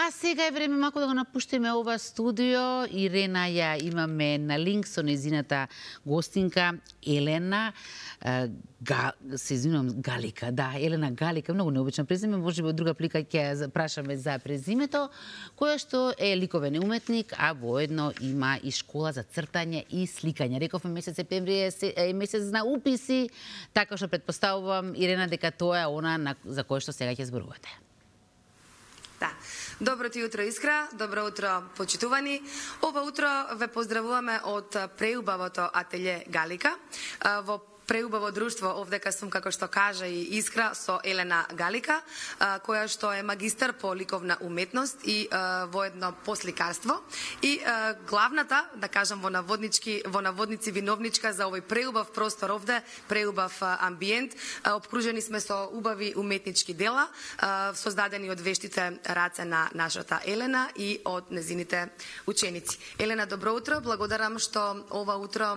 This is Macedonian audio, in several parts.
А сега е време малку да го напуштиме ова студио. Ирена ја имаме на линк со незината гостинка Елена Галика. Да, Елена Галика, многу необично презиме, можеби од друга плика ќе ја прашаме за презимето, која што е ликовен уметник, а воедно има и школа за цртање и сликање. Рековме месец септември е месец на уписи, така што претпоставувам, Ирена, дека тоа е она за кое што сега ќе зборувате. Да. Добро ти утро, Искра. Добро утро, почитувани. Ова утро ве поздравуваме од преубавото ателје Галика. Во преубаво друштво, овдека сум, како што кажа и Искра, со Елена Галика, која што е магистар по ликовна уметност и воедно по сликарство. И главната, да кажам во наводници виновничка за овој преубав простор овде, преубав амбиент. Обкружени сме со убави уметнички дела, создадени од вештите раце на нашата Елена и од незините ученици. Елена, добро утро. Благодарам што ова утро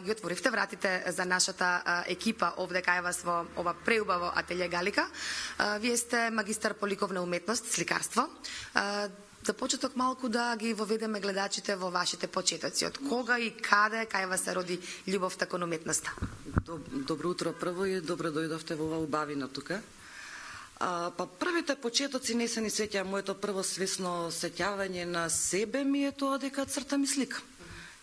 ги отворивте вратите за нашата екипа овде кај вас во ова преубаво ателје Галика. Вие сте магистар по ликовна уметност, сликарство. За почеток малку да ги воведеме гледачите во вашите почетоци. Од кога и каде кај вас се роди љубовта кон уметноста? Добро утро прво и добро дојдовте во ова убавина тука. Па првите почетоци не се ни сеќа, моето прво свесно сеќавање на себе ми е тоа дека цртам и сликам.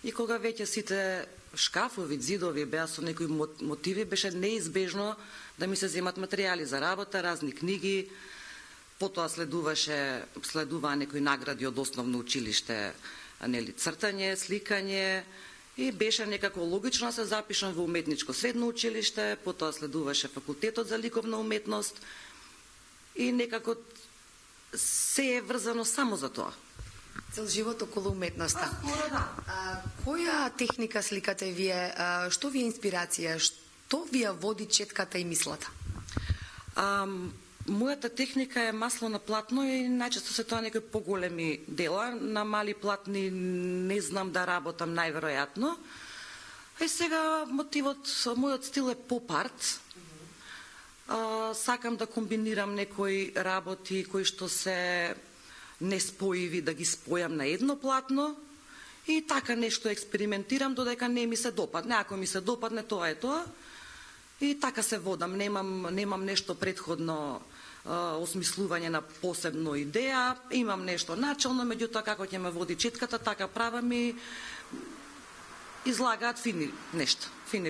И кога веќе сите шкафови, зидови беа со некои мотиви, беше неизбежно да ми се земат материјали за работа, разни книги. Потоа следуваа некои награди од основно училиште, нели, цртање, сликање, и беше некако логично да се запишам во уметничко средно училиште, потоа следуваше факултетот за ликовна уметност и некако се е врзано само за тоа. Цел живот околу уметноста. Да. Која техника сликате вие? Што ви е инспирација? Што ви ја води четката и мислата? Мојата техника е масло на платно и најчесто се тоа некои поголеми дела. На мали платни не знам да работам најверојатно. И сега мојот стил е поп-арт. Сакам да комбинирам некои работи кои што се неспоиви, да ги спојам на едно платно и така нешто експериментирам додека не ми се допадне. Ако ми се допадне, тоа е тоа. И така се водам. Немам нешто предходно осмислување на посебно идеја. Имам нешто начално, меѓутоа како ќе ме води четката, така правам и излагаат фини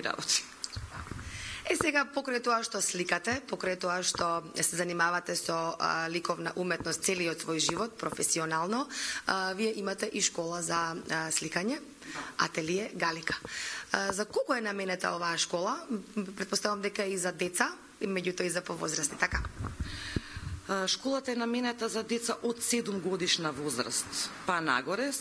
работи. Сега, покрај тоа што сликате, покрај тоа што се занимавате со ликовна уметност целиот свој живот, професионално, вие имате и школа за сликање, ателје Галика. За кого е наменета оваа школа? Претпоставам дека и за деца, и меѓутоа и за повозрасни, така? Школата е наменета за деца од 7 годишна возраст па нагоре,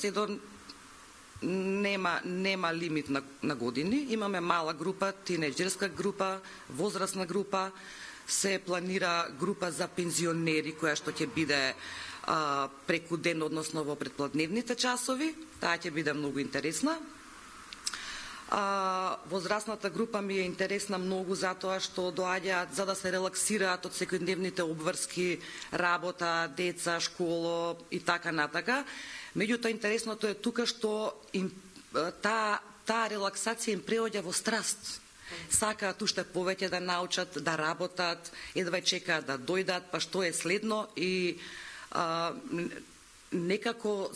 нема лимит на години. Имаме мала група, тинеџерска група, возрастна група, се планира група за пензионери која што ќе биде преку ден, односно во предпладневните часови. Таа ќе биде многу интересна. Возрастната група ми е интересна многу затоа што доаѓаат за да се релаксираат од секојдневните обврски, работа, деца, школо и така натака. Меѓутоа, интересното е тука што таа релаксација им преоѓа во страст. Сакаат уште повеќе да научат, да работат, едва чекаат да дојдат, па што е следно и некако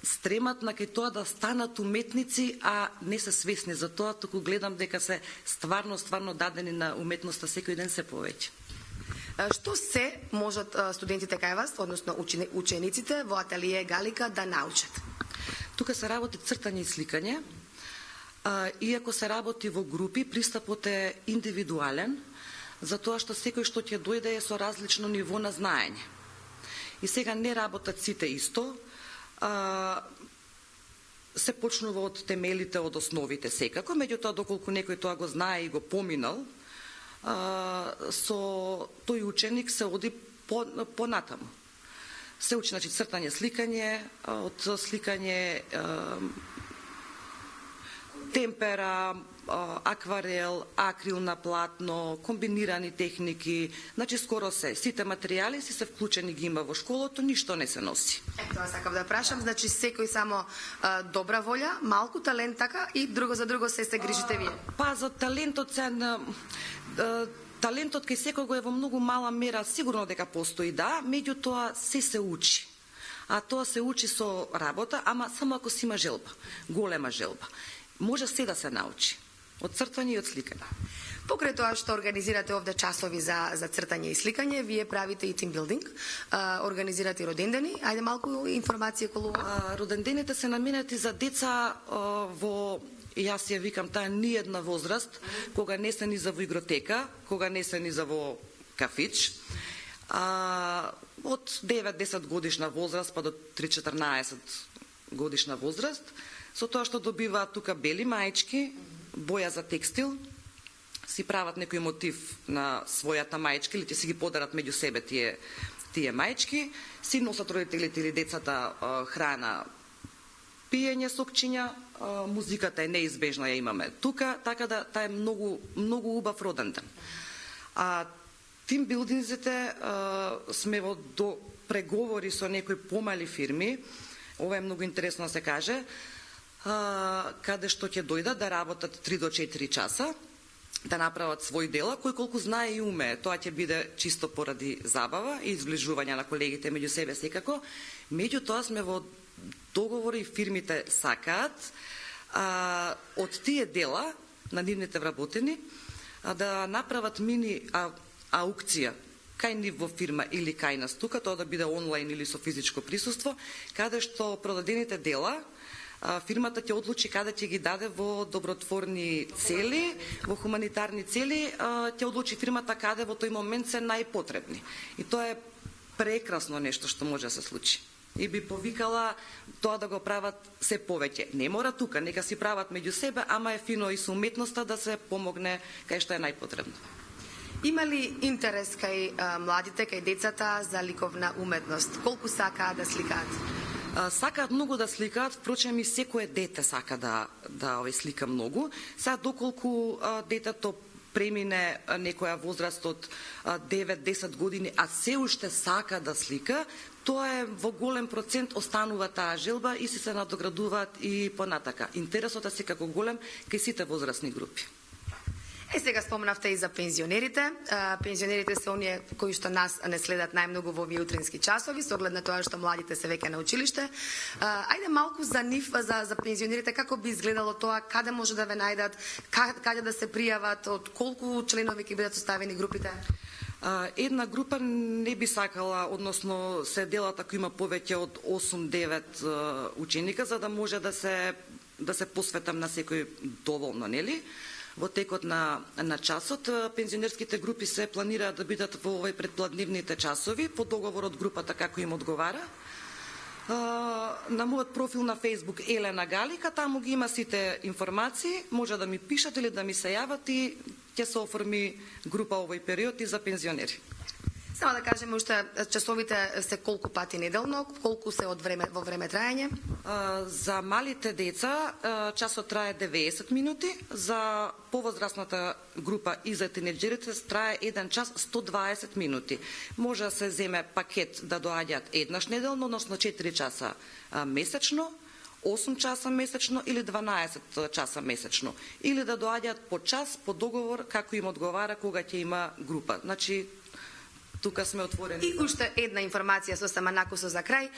стремат на кај тоа да станат уметници, а не се свесни за тоа, туку гледам дека се стварно дадени на уметноста секој ден се повеќе. Што се можат студентите кај вас, односно учениците во ателје Галика да научат? Тука се работи цртање и сликање. Иако се работи во групи, пристапот е индивидуален, затоа што секој што ќе дојде е со различно ниво на знаење. И сега не работат сите исто. Се почнува од темелите, од основите секако, меѓутоа доколку некој тоа го знае и го поминал, со тој ученик се оди понатаму. Се учи, значи, цртање, сликање, од сликање темпера, акварел, акрил на платно, комбинирани техники, значи скоро сите материјали се вклучени ги има во школото, ништо не се носи. Тоа сакав да прашам, значи секој само добра волја, малку талент така и друго за друго се грижите вие. Па за талентот талентот кај секој е во многу мала мера, сигурно дека постои, да, меѓутоа се учи. А тоа се учи со работа, ама само ако си има желба, голема желба. Може се да се научи. Од цртање и од сликање. Покрај тоа што организирате овде часови за цртање и сликање, вие правите и тимбилдинг, организирате и родендени. Ајде малку информација околу родендените се наменети за деца во, јас ја викам, таа ни една возраст, кога не се ни за во игротека, кога не се ни за во кафич, од 9-10 годишна возраст па до 3-14 годишна возраст, со тоа што добиваат тука бели маички, боја за текстил, си прават некој мотив на својата маичка или ќе си ги подарат меѓу себе тие маички, си носат родителите или децата храна, пиење, сокчиња, музиката е неизбежна, ја имаме тука, така да таа е многу убав роденден. Тимбилдинзите сме во до преговори со некои помали фирми, ова е многу интересно да се каже, каде што ќе дојдат да работат 3 до 4 часа, да направат свој дела, кој колку знае и умее. Тоа ќе биде чисто поради забава и изближување на колегите меѓу себе секако. Меѓутоа сме во договори, фирмите сакаат од тие дела на нивните вработени да направат мини аукција кај нив во фирма или кај нас тука, тоа да биде онлайн или со физичко присуство, каде што продадените дела фирмата ќе одлучи каде ќе ги даде во добротворни цели, во хуманитарни цели, ќе одлучи фирмата каде во тој момент се најпотребни. И тоа е прекрасно нешто што може да се случи. И би повикала тоа да го прават се повеќе. Не мора тука, нека си прават меѓу себе, ама е фино и со уметноста да се помогне кај што е најпотребно. Има ли интерес кај младите, кај децата за ликовна уметност? Колку сакаат да сликаат? Сакаат многу да сликаат, впрочем и секое дете сака да слика многу. Сега доколку детето премине некоја возраст од 9-10 години, а се уште сака да слика, тоа е во голем процент останува таа желба и се надоградуваат и понатака. Интересот е секако голем кај сите возрастни групи. Сега спомнавте и за пензионерите. Пензионерите се оние кои што нас не следат најмногу во овие утрински часови, со оглед на тоа што младите се веќе на училиште. Ајде малку за нив, за пензионерите, како би изгледало тоа, каде може да ве најдат, каде да се пријават, од колку членови ќе бидат составени групите? Една група не би сакала, односно се делат ако има повеќе од 8-9 ученика, за да може да се посветам на секој доволно, нели? Во текот на часот, пензионерските групи се планираат да бидат во овој предпладневните часови, по договор од групата како им одговара. На мојот профил на Facebook Елена Галика, таму ги има сите информации, може да ми пишат или да ми се јават и ќе се оформи група овој период и за пензионери. Само да кажеме уште часовите се колку пати неделно, колку се во време трајање? За малите деца часот трае 90 минути, за повозрастната група и за тинеџерите трае 1 час 120 минути. Може да се земе пакет да доаѓаат еднаш неделно, односно 4 часа месечно, 8 часа месечно или 12 часа месечно. Или да доаѓаат по час, по договор, како им одговара кога ќе има група. Значи, тука сме отворени. И уште една информација сосема накусо за крај.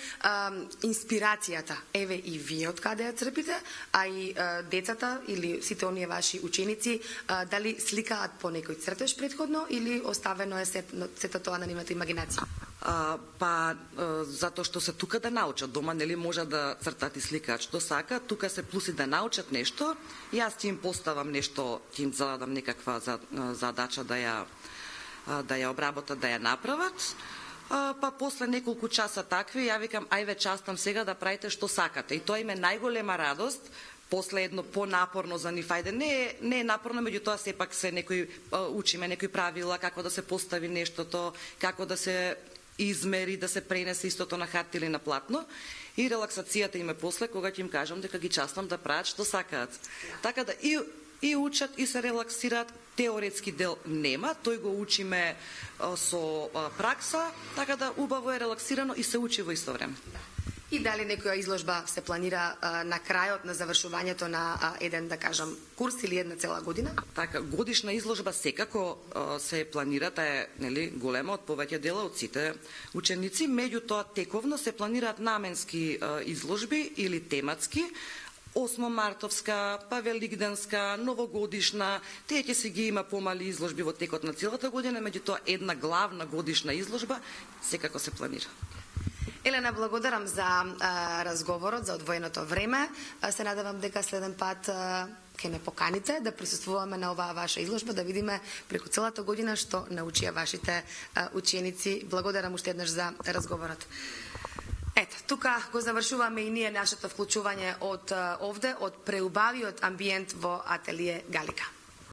Инспирацијата, еве и вие од каде ја црпите, а и децата или сите оние ваши ученици, дали сликаат по некој цртеж претходно или оставено е сето тоа на нивната имагинација? Затоа што се тука да научат. Дома нели може да цртат и сликаат што сака, тука се плюси да научат нешто. Јас ќе им поставам нешто, ќе им зададам некаква задача да ја обработат, да ја направат, па после неколку часа такви, ја викам, ајве частам сега да правите што сакате. И тоа им е најголема радост, после едно понапорно за нив, ајде, не е напорно, меѓутоа сепак се учиме некои правила, како да се постави нештото, како да се измери, да се пренесе истото на хартија или на платно. И релаксацијата им е после, кога ќе им кажам дека ги частам да прават што сакаат. Така да, и и учат и се релаксираат. Теоретски дел нема, тој го учиме со пракса, така да убаво е релаксирано и се учи во исто време. И дали некоја изложба се планира на крајот на завршувањето на еден, да кажам, курс или една цела година? Така, годишна изложба секако се планира, таа е, нели, голема од повеќе дела од сите ученици, меѓутоа тековно се планираат наменски изложби или тематски, 8 мартовска, па великденска, новогодишна, тие ќе се ги има помали изложби во текот на целата година, меѓутоа една главна годишна изложба секако се планира. Елена, благодарам за разговорот, за одвоеното време. Се надевам дека следен пат ќе ме поканите да присуствуваме на оваа ваша изложба, да видиме преку целата година што научија вашите ученици. Благодарам уште еднаш за разговорот. Ето, тука го завршуваме и ние нашето вклучување од овде, од преубавиот амбиент во ателие Галика.